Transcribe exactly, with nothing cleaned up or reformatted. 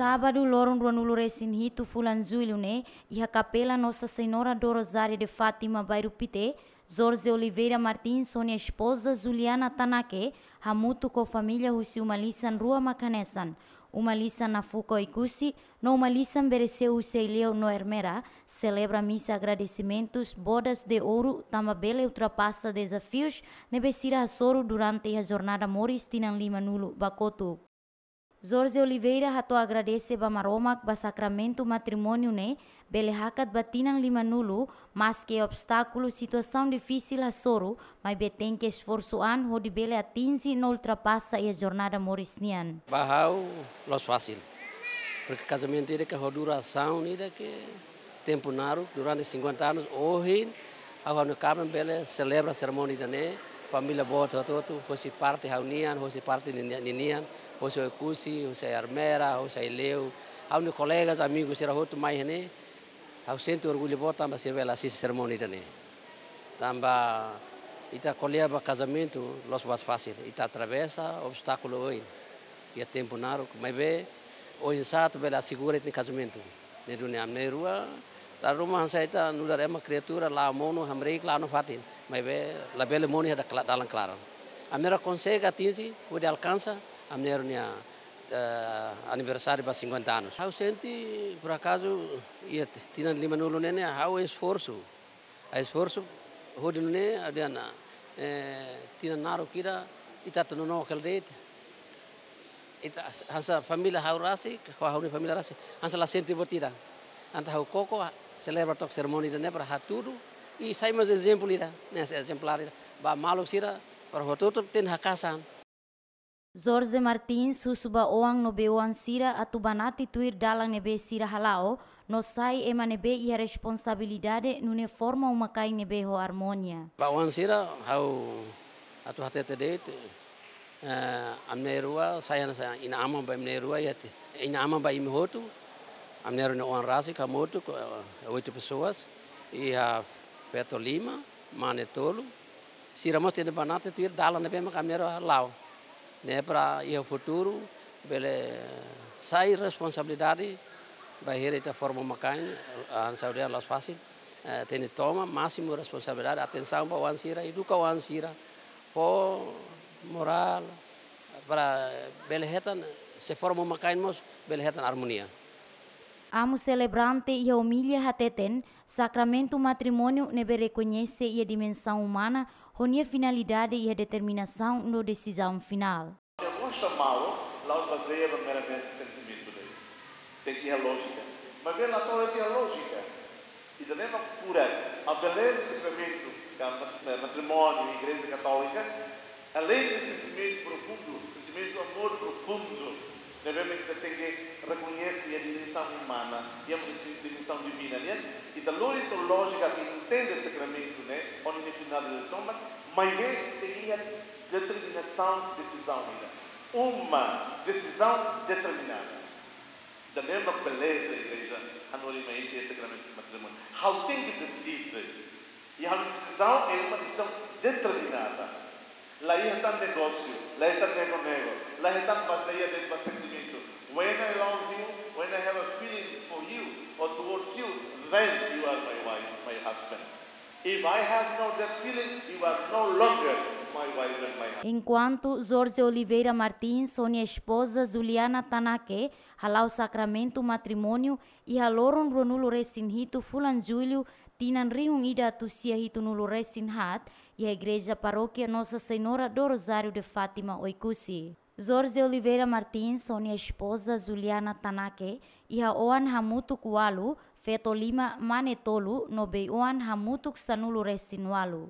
Sábadu, loron ruanulu resin hitu fulan Jullu ne'e, iha Kapela Nossa Senhora do Rosário de Fátima, Bairru Pité, Jorge Oliveira Martins ho nia espoza Juliana Tanake, hamutuk ho família husi uma lisan rua mak hanesan, uma lisan Nafuka Oekusi, no uma lisan Bereseu husi Aileu no Ermera, selebra misa agradesimentus Bodas de Ouro, tanba bele ultrapasa dezafius ne'ebé sira hasoru durante iha jornada moris tinan limanulu ba kotuk. Jorge Oliveira hato'o agradese ba Maromak ba sakramentu matrimóniu ne'e bele hakat ba tinan limanulu, maski obstákulu, situasaun difisil hasoru, maibé tenke esforsu an hodi bele atinje no ultrapasa iha jornada moris nian. Ba ha'u la'ós fasil. Porque kazamentu ida ke ho durasaun ida ke tempu naruk, durante cinquenta anos, ohin, ha'u ho ha'u-nia kaben bele selebra serimónia ida-ne'e, família boot hotu-hotu, hosi parte ha'u-nian, hosi parte ninian, ninian, hosi Oekusi, hosi Ermera, hosi Aileu, ha'u-nia kolegas, amigus sira hotu mai iha-ne'e, ha'u sente orgullu boot tanba sira bele asiste serimónia ida-ne'e. Tanba ita ko'alia ba kazamentu, la'ós buat fasil, ita atravesa obstákulu oin, iha tempu naruk, maibé oinsá atu bele asegura ita-nia kazamentu. Ne'e duni ami na'in-rua, dala ruma hanesan ita nu'udar ema kriatura, la'o monu, hamriik, la'o nafatin. Maibé labele monu iha da-, kla-, dalan klaran. Ami na'in-rua konsege atinje, hodi alkansa, ami na'in-rua nia, eh, aniversáriu ba cinquenta anos. Ha'u sente, por acaso, iha tinan limanulu ne'e ne'e, ha'u esforsu. Ha'u esforsu, hodi nune'e, ha'u dehan, eh, tinan naruk ida, ita atu nonook hela de'it. Ita has-, hanesan família ha'u rasik, ho ha'u-nia família rasik, hanesan la sente buat ida. Entaun ha'u koko, selebra took serimónia ida-ne'e para hatudu, i sai mós ezemplu ida, ne'e ezemplár ida. Ba maluk sira, para hotu-hotu tenke haka'as an. Jorge Martins husu ba oan no bei-oan sira atu banati tuir dalan ne'ebé sira hala'o, no sai ema ne'ebé iha responsabilidade nune'e forma uma-kain ne'ebé ho armónia. Ba oan sira, ha'u atu hatete de'it, eh, ami na'in-rua, sai hanesan inan-aman ba ami na'in-rua, iha te-, inan-aman ba imi hotu, ami na'in-rua nia oan rasik, hamutuk, eh, oito pessoas, iha feto lima, mane tolu, sira mós tenke banati tuir dalan ne'ebé mak ami na'in-rua la'o. Ne'e para iha futuru, bele sai responsabilidade, bainhira ita forma uma-kain, ah, saúde la'ós fasil, eh, tenke toma másimu responsabilidade, atensaun ba oan sira, eduka oan sira, fó morál, para bele hetan, se forma uma-kain mós, bele hetan armónia. Amu selebrante iha omilia hateten, sakramentu matrimóniu ne'ebé rekoñese iha dimensaun umana, ho nia finalidade iha determinasaun no desizaun finál. Depois chamá-lo, la'ós bazeia ba meramente sentimentu de'it. Tenke iha lójika. Maibé la to'o iha lójika. Ida-ne'e mak furak, a beleza sakramentu, ka mat-, matrimóniu, Igreja Katólika, além de sentimentu profundu, sentimentu amor profundu, ne'ebé mak ita tenke rekoñese iha dimensaun umana, iha dimensaun divina, ne'e? Ita lori to'o lójika atu entende sakramentu ne'e, ho nia finalidade tomak, maibé tenke iha determinasaun, desizaun ida. Uma desizaun determinada. Ida-ne'e mak beleza igreja hanorin mai ita iha sakramentu matrimóniu. Ha'u tenke deside. I ha'u-nia desizaun é uma decisão determinada. La iha tan negósiu, la iha tan nego-nego, la iha tan bazeia de'it ba sentimentu. When I love you, when I have a feeling for you or towards you, then you are my wife, my husband. If I have no that feeling, you are no longer my wife and my husband. Enkuantu Jorge Oliveira Martins ho nia espoza Juliana Tanake hala'o sakramentu matrimóniu iha loron ruanulu resin hitu fulan Jullu, tinan rihun ida atus sia hitunulu resin haat, iha Igreja Parókia Nossa Senhora do Rosário de Fátima, Oekusi. Jorge Oliveira Martins ho nia espoza Juliana Tanake iha oan hamutuk ualu, feto lima, mane tolu, no bei-oan hamutuk sanulu resin ualu.